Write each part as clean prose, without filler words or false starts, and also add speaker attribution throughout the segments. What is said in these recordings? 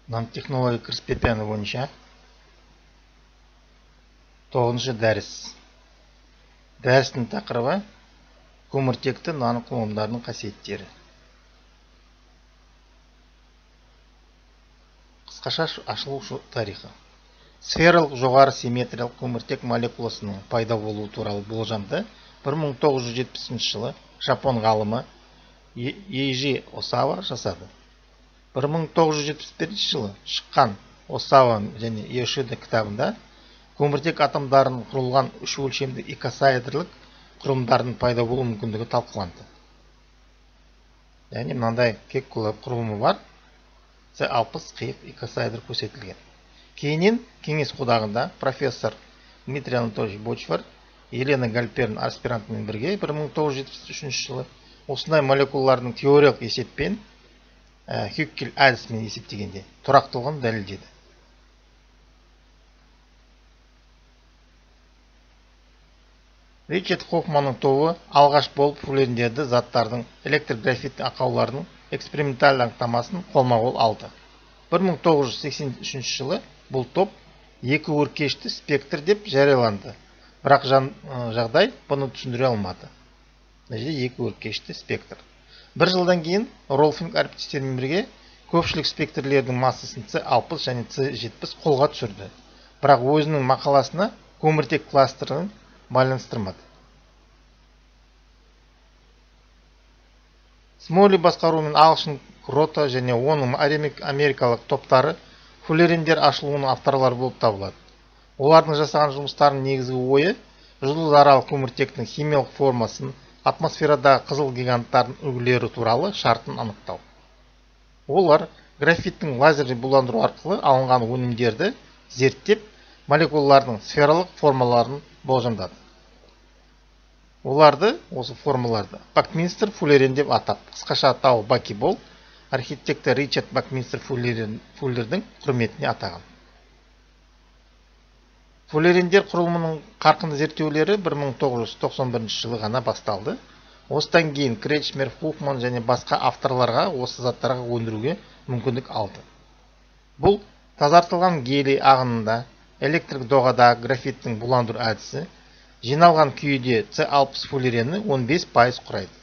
Speaker 1: Nanotexnologiya кіріспе пәні бойынша 9-шы дәріс. Дәрістің тақырыбы көміртекті наноқұрылымдардың қасиеттері. Қысқаша ашылу тарихы. Сфералық жоғары симметриялық көміртек молекуласының пайда болуы туралы болжамды 1970 жылы жапон ғалымы Эйжи Осава жасады. 1971 жылы шыққан Осава және Йошида кітабында көміртек атомдарының құрылған үш өлшемді икосаэдрлік құрылымдардың пайда болу мүмкіндігі талқыланды. Яғни мынандай кек құрылымы бар, С60 қиық икосаэдр көрсетілген. Кейіннен кеңес одағында профессор Дмитрий Анатольевич Бочвар, Елена Гальперн аспирантымен бірге 1973 жылы осындай молекулалардың теориялық есеппен Хюккель әдісімен есептегенде тұрақтылығын дәлелдеді. Ричард Хоффманның тобы алғаш болып фуллерендерді заттардың электрографит ақауларының эксперименталь анықтамасын қолма-қол алды. 1983 жылы бұл топ екі өркешті спектр деп жарияланды. Бірақ жағдай бұны түсіндіре алмады. Екі өркешті спектр. Бір жылдан кейін Ролфинг әріптестермен бірге көпшілік спектрлердің массасын С60 және С70 қолға түсірді. Бірақ өзінің мақаласына көміртек кластерін байланыстырмады. Смолли басқаруымен ағылшын Крота және оның америкалық топтары фуллерендер ашылуының авторлары болып табылады. Олардың жасаған жұмыстарының негізгі ойы жұлдызаралық көміртектің химиялық формасын, атмосферадағы қызыл гиганттардың үлгілері туралы шартын анықтау. Олар графиттің лазерлі буландыру арқылы алынған өнімдерді зерттеп, молекулалардың сфералық формаларын болжамдады. Оларды, осы формаларды, Бакминстер фуллерен деп атап, қысқаша атауы Баки-Бол, архитектор Ричард Бакминстер фуллердің құрметіне атаған. Фуллерендер құрылымының қарқынды зерттеулері 1991 жылы ғана басталды. Осыдан кейін Кречмер, Хоффман және басқа авторларға осы заттарға өндіруге мүмкіндік алды. Бұл тазартылған гелий ағынында электрик доғадағы графиттің буландыру әдісі жиналған күйде С60 фуллерені 15% құрайды.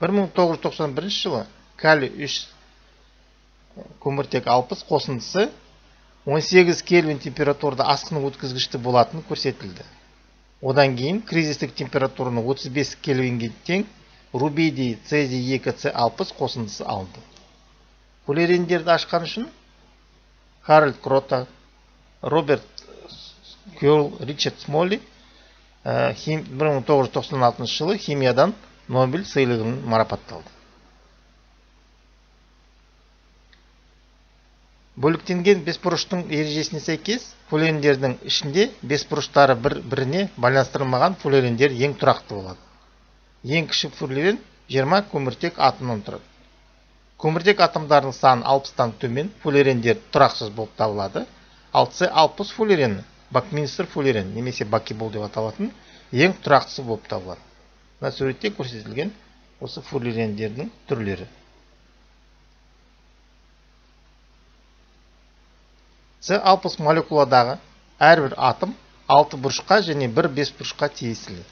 Speaker 1: 1991 жылы калий 3 көміртек 60 қосындысы 18 кельвин температурада асқыны өткізгішті болатыны көрсетілді. Одан кейін кризистік температураны 35 кельвинге тең рубидий цезий 2 С60 қосындысы алынды. Фуллерендерді ашқан үшін Харальд Крота, Роберт Кёрл, Ричард Смолли 1996 жылы химиядан Нобель сыйлығын марапатталды. Бөліктенген бесбұрыштың ережесіне сәйкес, фуллерендердің ішінде бесбұрыштары бір-біріне байланыстырылмаған фуллерендер ең тұрақты болады. Ең кіші фуллерен 20 көміртек атомнан тұрады. Көміртек атомдарының саны 60-тан төмен фуллерендер тұрақсыз болып табылады. Ал С60 фуллерені, Бакминстер фуллерен немесе Баки-Бол деп аталатын ең тұрақтысы болып табылады. Мына суретте көрсетілген осы фуллерендердің түрлері. С60 молекуладағы әрбір атом 6 бұрышқа және 1 бесбұрышқа тиесілі.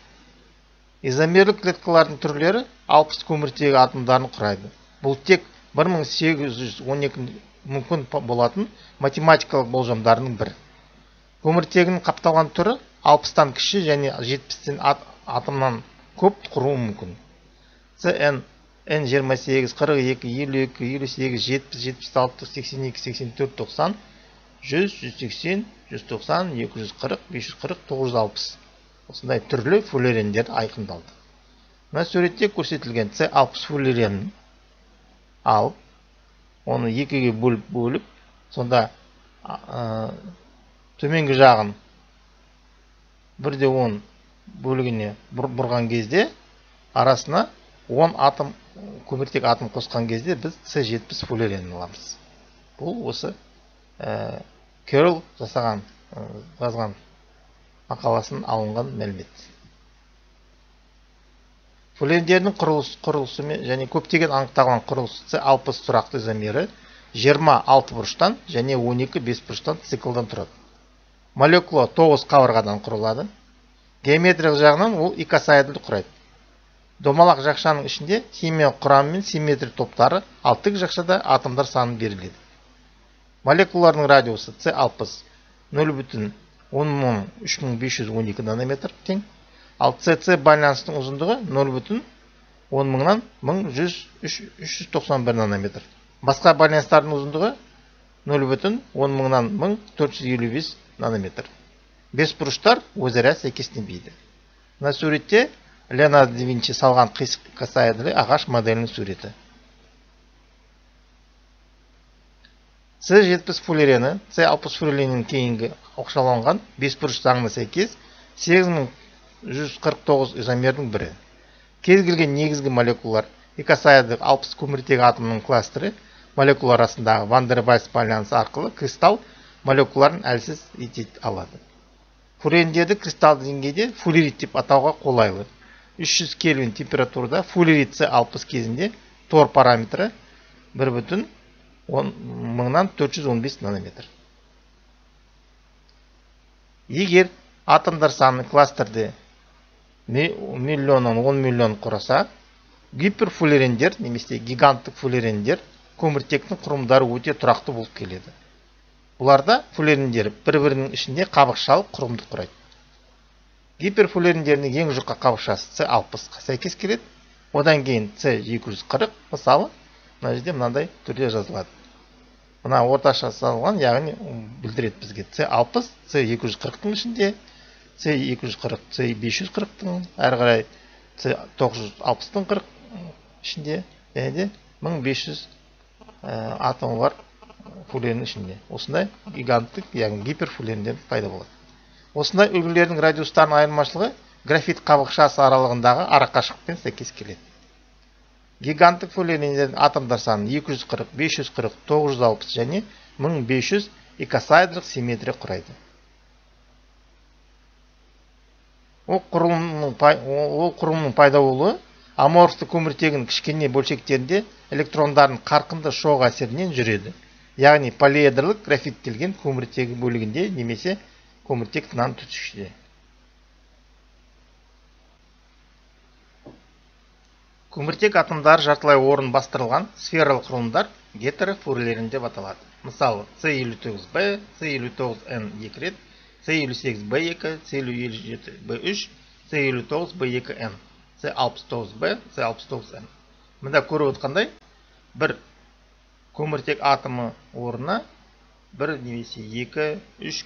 Speaker 1: Изомерлік клеткалардың түрлері 60 көміртегі атомдарын құрайды. Бұл тек 1812 мүмкін болатын математикалық болжамдарының бірі. Көміртегінің қапталған түрі 60-тан кіші және 70-тен атомнан көп құруы мүмкін. CN, N28, 42, 52, 58, 70, 76, 82, 84, 90, 100, 180, 190, 240, 540, 960. Осындай түрлі фуллерендер айқындалды. Мына суретте көрсетілген С60 фуллеренін алып, оны екіге бөліп, сонда төменгі жағын 1/10 бөлігіне бұрған кезде арасына 10 атом көміртек атом қосқан кезде біз С70 фуллеренін аламыз. Бұл осы Кёрл жазған мақаласын алынған мәлімет. Фуллерендердің құрылысы және көптеген анықталған құрылысы С60 тұрақты изомері 20 алты бұрыштан және 12 бес бұрыштан циклдан тұрады. Молекула 9 қабырғадан құрылады. Геометриялық жағынан ол икосаэдрді құрайды. Домалақ жақшаның ішінде химиялық құрамы мен симметрия топтары, ал тік жақшада атомдар саны беріледі. Молекулалардың радиусы С60 0,103512 нанометр тең, ал СС байланыстың ұзындығы 0,10 391 нанометр. Басқа байланыстардың ұзындығы 0,10 455 нанометр. Бес бұрыштар өзара сәйкесненбейді. Мына суретте Леонардо да Винчи салған қисық икосаэдрлі ағаш моделінің суреті. С70 фуллерені С60 фуллеренің кейінгі оқшауланған бес бұрыш заңына сәйкес 8149 изомердің бірі. Кез келген негізгі молекулалар икосаэдрлік 60 көміртегі атомның кластері молекула арасындағы Ван дер Вальс байланысы арқылы кристалл молекулаларын әлсіз ете алады. Фуллерендерді кристалды деңгейде фуллерит деп атауға қолайлы. 300 кельвин температурада фуллерит С60 кезінде тор параметрі 1,415 нанометр. Егер атомдар саны кластерде миллионнан 10 миллион құраса, гиперфуллерендер немесе гиганттық фуллерендер көміртектің құрылымдары өте тұрақты болып келеді. Бұларда фуллерендер бір-бірінің ішінде қабықшалы құрылымды құрайды. Гиперфуллерендердің ең жұқа қабықшасы С60-қа сәйкес келеді. Одан кейін С240, мысалы, мына жерде мынандай түрде жазылады. Мына орташа салған, яғни білдіреді бізге С60, С240-тың ішінде, С240, С540-тың, әрі қарай С960-тың 40 ішінде, және де 1500 атомы бар фуллереннің ішінде. Осындай гиганттық, яғни гиперфуллерендер пайда болады. Осындай үлгілердің радиустарының айырмашылығы графит қабықшасы аралығындағы арақашықтықпен сәйкес келеді. Гиганттық фуллерендердің атомдар саны 240, 540, 960 және 1500 икосаэдрлік симметрия құрайды. Ол құрылымның пайда болуы аморфты көміртегінің кішкене бөлшектерінде электрондардың қарқынды шоқ әсерінен жүреді. Яғни полиэдрлік графиттелген көміртегі бөлігінде немесе көміртек тынан түтікшіде. Көміртек атомдары жартылай орын бастырылған сфералық құрылымдар гетерофуллерен деп аталады. Мысалы, С59Б, С59Н2 рет, С58Б2, С57Б3, С59Б2Н, С69Б, С69Н. Мында көріп отқандай, бір көміртек атомы орнына, бір немесе 2-3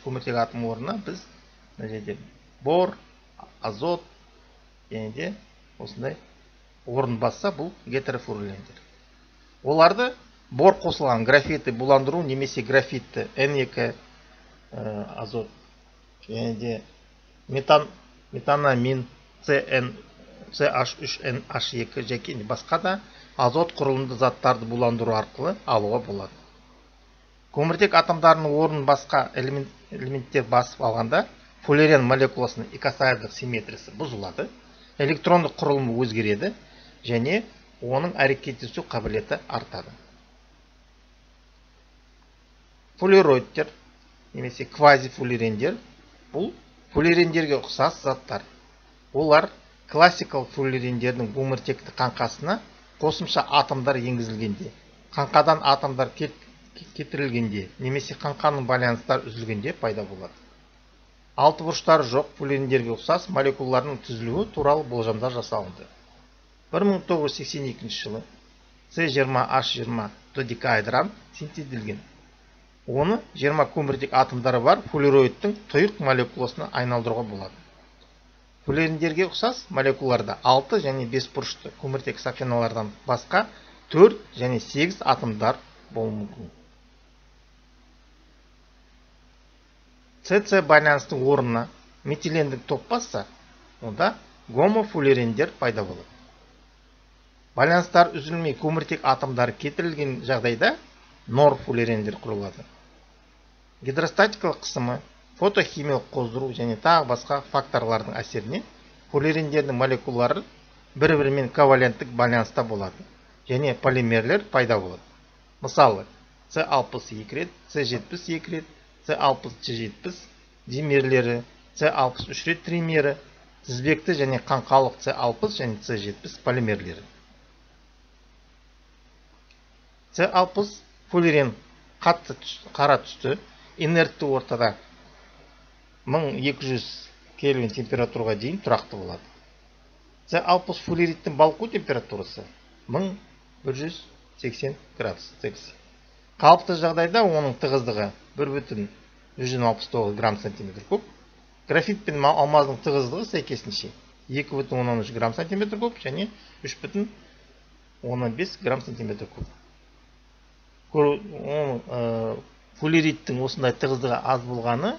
Speaker 1: көміртек атомы орнына біз бор, азот, және де осындай орын басса, бұл гетерофуллерендер. Оларды бор қосылған графитті буландыру немесе графитті N2 азот, және де метанамин CH3NH2 және басқа да азот құрылымды заттарды буландыру арқылы алуға болады. Көміртек атомдарының орнын басқа элементтер басып алғанда фуллерен молекуласының икосаэдрлік симметриясы бұзылады, электрондық құрылымы өзгереді және оның әрекеттесу қабілеті артады. Фуллероидтер немесе квазифуллерендер бұл фуллерендерге ұқсас заттар. Олар классикалық фуллерендердің көміртекті қаңқасына қосымша атомдар енгізілгенде, қаңқадан атомдар кетірілгенде, немесе қаңқаның байланыстар үзілгенде пайда болады. Алты бұрыштары жоқ фуллерендерге ұқсас молекулалардың түзілуі туралы болжамдар жасалынды. 1982 жылы С20H20 додекаэдран синтезделген. Оны 20 көміртек атомдары бар фуллероидтың тұйық молекуласына айналдыруға болады. Фуллерендерге ұқсас молекулаларда 6 және 5 бұрышты көміртек сақиналардан басқа 4 және 8 атомдар болуы мүмкін. СС байланыстың орнына метилендік топ басса, онда гомофуллерендер пайда болады. Байланыстар үзілмей көміртек атомдары кетірілген жағдайда норфуллерендер құрылады. Гидростатикалық қысымы, фотохимиялық қоздыру және тағы басқа факторлардың әсерінен фуллерендердің молекулалары бір-бірімен коваленттік байланыста болады және полимерлер пайда болады. Мысалы, С60 2 рет, С70 2 рет, С60 Ж70 димерлері, С63 рет тримері, тізбекті және қаңқалық С60 және С70 полимерлері. С60 фуллерен қатты қара түсті, инертті ортада 1200 кельвин температураға дейін тұрақты болады. С60 фуллериттің балқу температурасы 1180 градус Цельсий. Қалыпты жағдайда оның тығыздығы 1,169 грамм сантиметр куб. Графит пен алмаздың тығыздығы сәйкесінше 2,13 грамм сантиметр куб және 3,15 грамм сантиметр куб. Фуллериттің осындай тығыздығы аз болғаны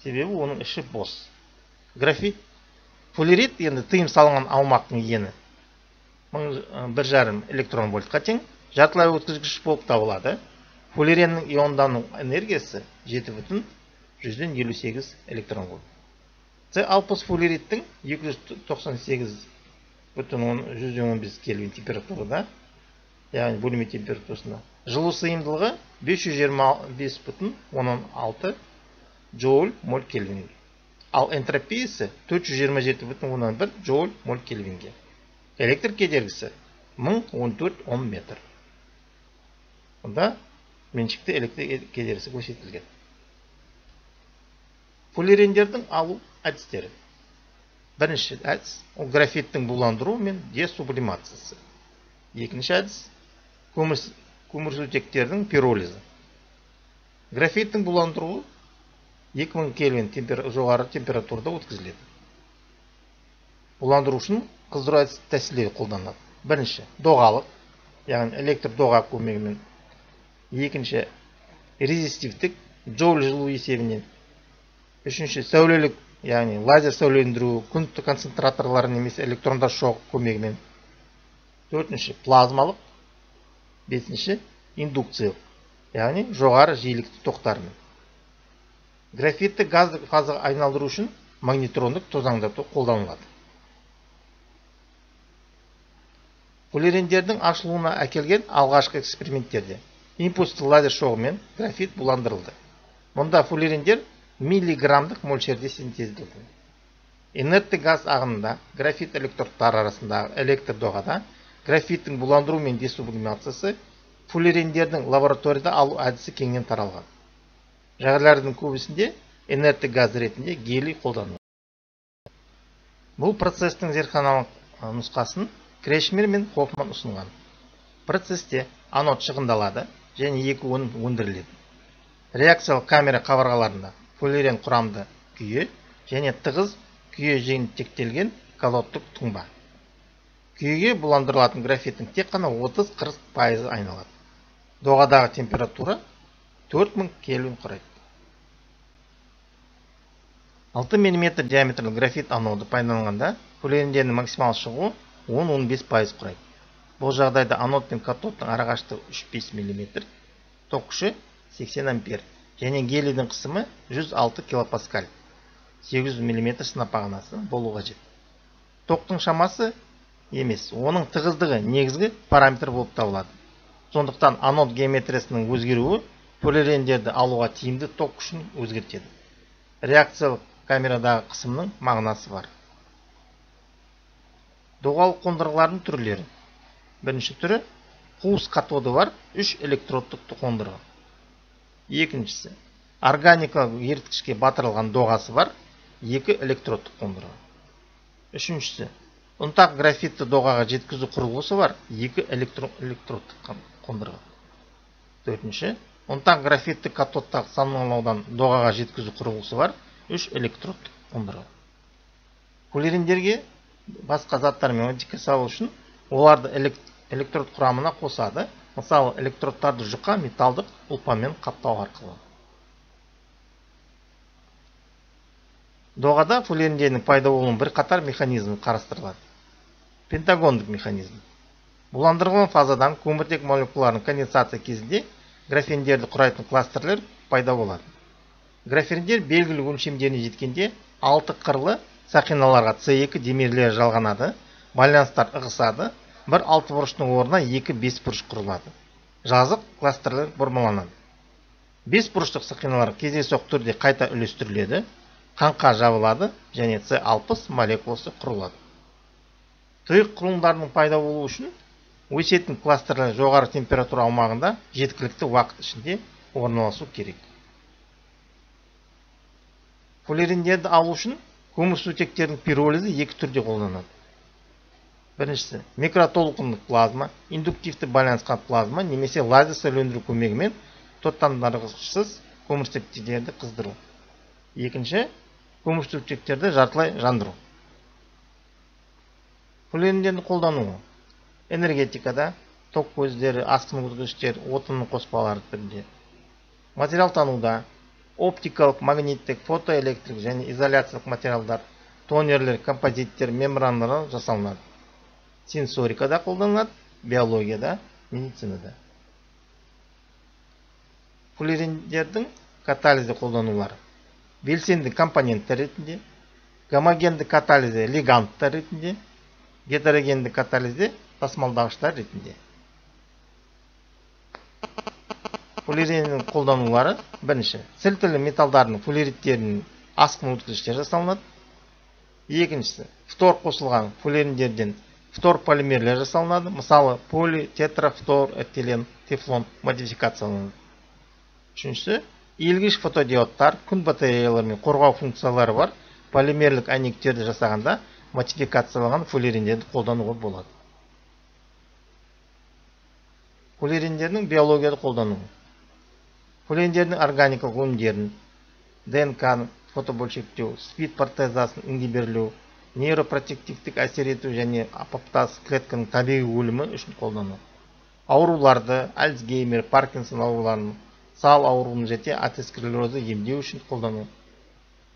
Speaker 1: себебі оның іші бос. Графит фуллерит енді тыйым салынған аумақтың ені 1,5 электрон вольтқа тең, жартылай өткізгіш болып табылады. Фуллереннің иондану энергиясы 7,158 электрон вольт. С60 фуллериттің 298,115 кельвин температурада, яғни бөлме температурасында, жылу сыйымдылығы 525,16 джоуль моль кельвинге. Ал энтропиясы 427,1 джоуль моль кельвинге. Электр кедергісі 1014 Ом метр. Онда меншікті электр кедергісі көрсетілген. Фуллерендердің алу әдістері. Бірінші әдіс ол графиттің буландыру мен десублимациясы. Екінші әдіс көмірсутектердің пиролизі. Графиттің буландыруы 2000 кельвин жоғары температурада өткізіледі. Буландыру үшін қыздыру тәсілдері қолданылады. Бірінші доғалық, яғни электр доға көмегімен. Екінші резистивтік, джоуль жылу есебінен. Үшінші сәулелік, яғни лазер сәулелендіру, күн концентраторлары немесе электрондар шоғы көмегімен. Төртінші плазмалық. Бесінші индукциялық, яғни жоғары жиілікті тоқтармен. Графитті газды фазаға айналдыру үшін магнитрондық тозаңдату қолданылады. Фуллерендердің ашылуына әкелген алғашқы эксперименттерде импульсті лазер шоғымен графит буландырылды. Мұнда фуллерендер миллиграммдық мөлшерде синтезделді. Инертті газ ағынында графит электродтары арасындағы электр доғада графиттің буландыру мен десублимациясы фуллерендердің лабораторияда алу әдісі кеңінен таралған. Жағдайлардың көбісінде инертті газ ретінде гелий қолданылады. Бұл процестің зертханалық нұсқасын Крешмер мен Хоффман ұсынған. Процесте анод шығындалады және екі өнім өндіріледі. Реакциялық камера қабырғаларында фуллерен құрамды күйе және тығыз күйе жиынтектелген катодтық тұнба. Күйеге буландырылатын графиттің тек қана 30-40% айналады. Доғадағы температура 4000 кельвин құрайды. 6 мм диаметрлі графит аноды пайдаланғанда фуллерендердің максимал шығуы 10-15% құрайды. Бұл жағдайда анод пен катодтың арақашықтығы 3-5 мм, ток күші 80 ампер және гелийдің қысымы 106 килопаскаль, 800 мм сынап бағанасы болу қажет. Токтың шамасы емес, оның тығыздығы негізгі параметр болып табылады. Сондықтан анод геометриясының өзгеруі фуллерендерді алуға тиімді ток күшін өзгертеді. Реакциялық камерадағы қысымның мағынасы бар. Доғалық қондырғылардың түрлері. Бірінші түрі қуыс катоды бар 3 электродтық қондырғы. Екіншісі органикалық еріткішке батырылған доғасы бар 2 электродтық қондырғы. Үшіншісі ұнтақ графитті доғаға жеткізу құрылғысы бар 2 электродтық қондырғы. Төртінші ұнтақ графитті катодтағы саналаудан доғаға жеткізу құрылғысы бар 3 электродтық қондырғы. Фуллерендерге басқа заттармен модификациялау үшін оларды электрод құрамына қосады. Мысалы, электродтарды жұқа металдық ұлпамен қаптау арқылы. Доғада фуллерендердің пайда болуының бір қатар механизмі қарастырылады. Пентагондық механизм. Буландырылған фазадан көміртек молекулаларының конденсация кезінде графендерді құрайтын кластерлер пайда болады. Графендер белгілі өлшемдеріне жеткенде 6 қырлы сақиналарға С2 демирлері жалғанады, байланыстар ығысады, бір 6 бұрыштың орнына 2 5 бұрыш құрылады. жазық кластерлер бұрмаланады. 5 бұрыштық сақиналар кездейсоқ түрде қайта үлестіріледі, қаңқа жабылады және С60 молекуласы құрылады. Тұйық құрылымдарының пайда болуы үшін өсетін кластерлер жоғары температура аумағында жеткілікті уақыт ішінде орналасу керек. Фуллериндерді алу үшін көмірсутектердің пиролизі екі түрде қолданады. Біріншісі микротолқындық плазма, индуктивті байланысқан плазма немесе лазер сөйлендіру көмегімен тоттандырғышсыз көмірсутектерді қыздыру. Екінші көмірсутектерді жартылай жандыру. Фуллериндерді қолдануы энергетикада ток көздері, асқындырғыштер, отынның қоспалары түрінде, материалтануда оптикалық, магниттік, фотоэлектрик және изоляциялық материалдар, тонерлер, композиттер, мембраналар жасалынады. Сенсорикада қолданылады, биологияда, медицинада. Фуллериндердің катализі қолданулары белсенді компоненттер ретінде, гомогенді катализі лиганттар ретінде, гетерогенді катализі тасымалдағыштар ретінде. Фуллериннің қолданулары бірінші сілтілі металдардың фуллериттерінің асқындырғыштер жасалынады. Екіншісі фтор қосылған фуллериндерден фтор полимерлер жасалынады. Мысалы, поли, тетра, фтор, этилен, тефлон модификацияланады. Үшіншісі иілгіш фотодиодтар, күн батареялары мен қорғау функциялары бар полимерлік әйнектерді жасағанда модификацияланған фуллериндерді қолдануға болады. Фуллериндердің биологияда қолдануы. Фуллериндердің органикалық өнімдерін, ДНК-ны фотобөлшектеу, спид протеазасын ингибирлеу, нейропротективтік әсер ету және апоптоз клетканың табиғи өлімі үшін қолданылады. Ауруларды, Альцгеймер, Паркинсон ауруларын, сал ауруын және атеросклерозды емдеу үшін қолданылады.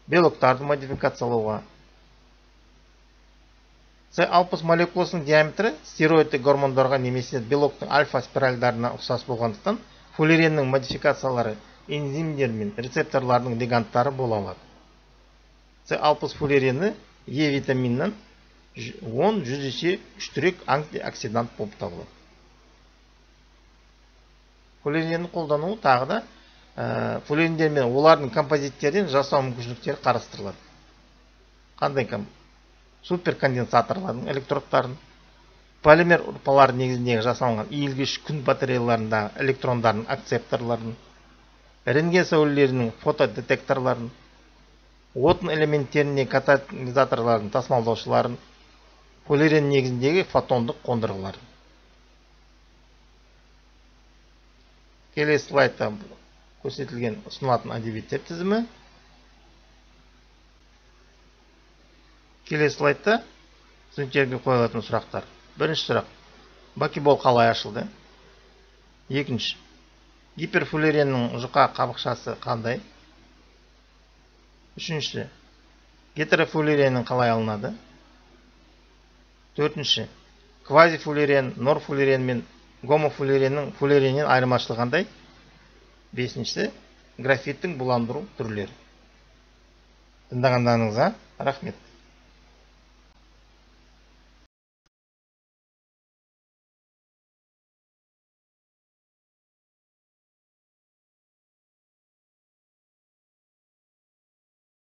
Speaker 1: Белоктарды модификациялауға. С60 молекуласының диаметрі стероидтік гормондарға немесе белоктың альфа спиральдарына ұқсас болғандықтан фуллереннің модификациялары энзимдер мен рецепторлардың лиганттары бола алады. С60 фуллерені Е витаминнен 10-100 есе күштірек антиоксидант болып табылады. Фуллеренді қолдануы тағы да фуллерендер мен олардың композиттерден жасау мүмкіншіліктері қарастырылады. Қандай суперконденсаторлардың электродтарын, полимер ұрпалары негізіндегі жасалынған иілгіш күн батареяларындағы электрондардың акцепторларын, рентген сәулелерінің фотодетекторларын, отын элементтеріне катализаторлардың тасымалдаушыларын, фуллерен негізіндегі фотондық қондырғыларын. Келесі слайдта көрсетілген ұсынылатын әдебиеттер тізімі. Келесі слайдта студенттерге қойылатын сұрақтар. Бірінші сұрақ. Бакебол қалай ашылды? Екінші. Гиперфуллереннің жұқа қабықшасы қандай? Үшінші. Гетерофуллереннің қалай алынады? Төртінші. Квазифуллерен, норфуллерен мен гомофуллереннің фуллереннен айырмашылығы қандай? Бесіншісі. Графиттің буландыру түрлері. Тыңдағандарыңызға рахмет.